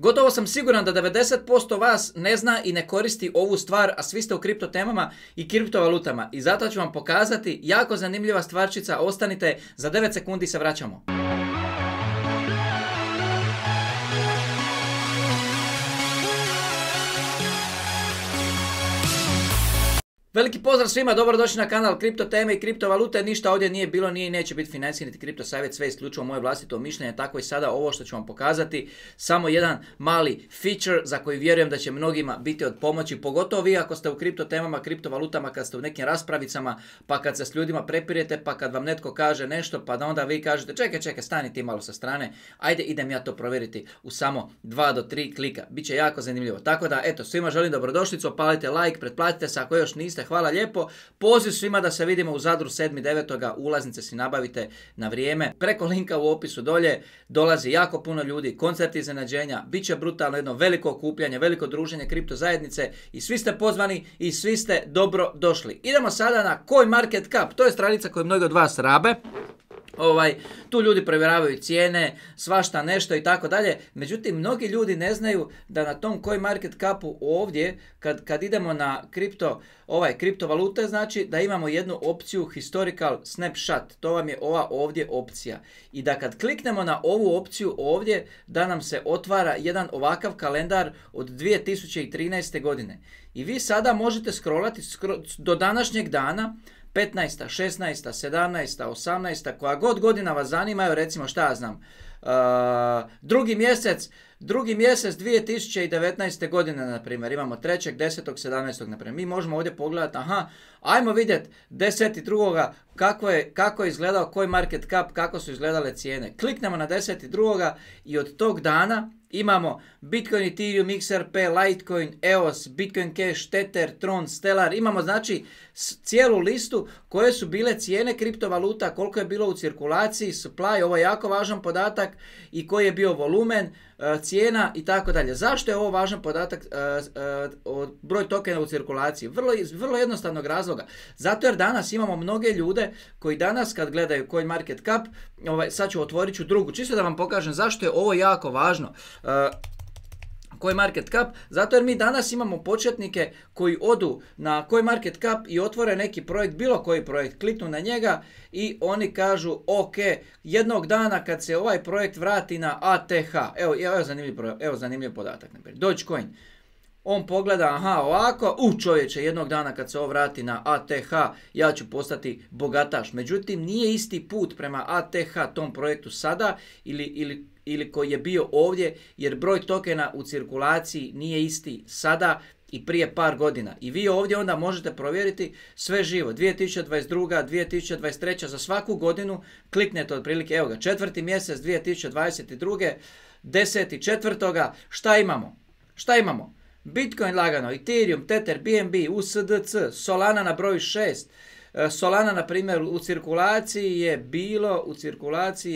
Gotovo sam siguran da 90% vas ne zna i ne koristi ovu stvar, a svi ste u kripto temama i kriptovalutama. I zato ću vam pokazati jako zanimljiva stvarčica. Ostanite, za 9 sekundi se vraćamo. Veliki pozdrav svima, dobrodošli na kanal Kripto teme i kriptovalute. Ništa ovdje nije bilo, nije i neće biti financijski niti kripto savjet, sve isključivo moje vlastito mišljenje, tako i sada ovo što ću vam pokazati. Samo jedan mali feature za koji vjerujem da će mnogima biti od pomoći, pogotovo vi ako ste u kripto temama, kriptovalutama, kad ste u nekim raspravicama, pa kad se s ljudima prepirete, pa kad vam netko kaže nešto, pa da onda vi kažete čekaj, stani ti malo sa strane, ajde idem ja to provjeriti u samo 2 do 3 klika. Biće jako zanimljivo. Tako da, eto, svima želim dobrodošlicu, opalite like, pretplatite se ako još niste. Hvala lijepo. Poziv svima da se vidimo u Zadru 7.9. Ulaznice si nabavite na vrijeme. Preko linka u opisu dolje dolazi jako puno ljudi, koncerti iznenađenja, bit će brutalno jedno veliko okupljanje, veliko druženje kripto zajednice i svi ste pozvani i svi ste dobro došli. Idemo sada na CoinMarketCap. To je stranica koju mnogi od vas rabe. Tu ljudi provjeravaju cijene, svašta nešto i tako dalje. Međutim, mnogi ljudi ne znaju da na tom CoinMarketCapu ovdje, kad idemo na kriptovalute, znači da imamo jednu opciju Historical Snapshot. To vam je ova ovdje opcija. I da kad kliknemo na ovu opciju ovdje, da nam se otvara jedan ovakav kalendar od 2013. godine. I vi sada možete scrollati do današnjeg dana, 15., 16., 17., 18., koja god godina vas zanima, recimo šta ja znam, drugi mjesec 2019. godine, na primjer, imamo 3., 10., 17. na primjer. Mi možemo ovdje pogledati, ajmo vidjeti 10.2. kako je izgledao CoinMarketCap, kako su izgledale cijene. Kliknemo na 10.2. i od tog dana imamo Bitcoin, Ethereum, XRP, Litecoin, EOS, Bitcoin Cash, Tether, Tron, Stellar. Imamo znači cijelu listu koje su bile cijene kriptovaluta, koliko je bilo u cirkulaciji, supply, ovo je jako važan podatak, i koji je bio volumen, cijena i tako dalje. Zašto je ovo važan podatak, broj tokena u cirkulaciji? Vrlo jednostavnog razloga. Zato jer danas imamo mnoge ljude koji danas kad gledaju CoinMarketCap, sad ću otvorit ću drugu, čisto da vam pokažem zašto je ovo jako važno. CoinMarketCap, zato jer mi danas imamo početnike koji odu na CoinMarketCap i otvore neki projekt, bilo koji projekt, kliknu na njega i oni kažu ok, jednog dana kad se ovaj projekt vrati na ATH, evo zanimljiv podatak, Dogecoin, on pogleda, ovako, čovječe, jednog dana kad se ovo vrati na ATH, ja ću postati bogataš. Međutim, nije isti put prema ATH tom projektu sada ili koji je bio ovdje, jer broj tokena u cirkulaciji nije isti sada i prije par godina. I vi ovdje onda možete provjeriti sve živo. 2022. 2023. za svaku godinu kliknete otprilike, evo ga, 4. mjesec 2022. 10.4. Šta imamo? Bitcoin lagano, Ethereum, Tether, BNB, USDC, Solana na broju 6. Solana, na primjer, u cirkulaciji je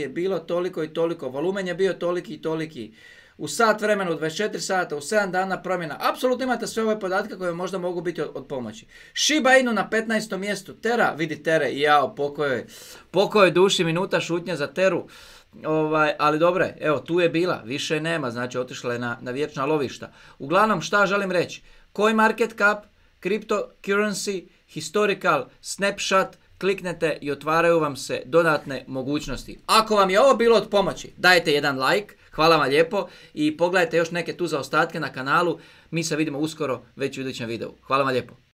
bilo toliko i toliko, volumen je bio toliki i toliki. U sat vremena, u 24 sata, u 7 dana promjena. Apsolutno imate sve ove podatke koje možda mogu biti od pomoći. Shiba Inu na 15. mjestu. Tera, vidi Tere, jao, pokoj duši, minuta šutnje za Teru. Ali dobro, evo, tu je bila, više nema, znači otišla je na vječna lovišta. Uglavnom, šta želim reći? CoinMarketCap, Cryptocurrency, Historical Snapshot, kliknete i otvaraju vam se dodatne mogućnosti. Ako vam je ovo bilo od pomoći, dajte jedan like, hvala vam lijepo, i pogledajte još neke tu zaostatke na kanalu. Mi se vidimo uskoro već u idućem videu. Hvala vam lijepo.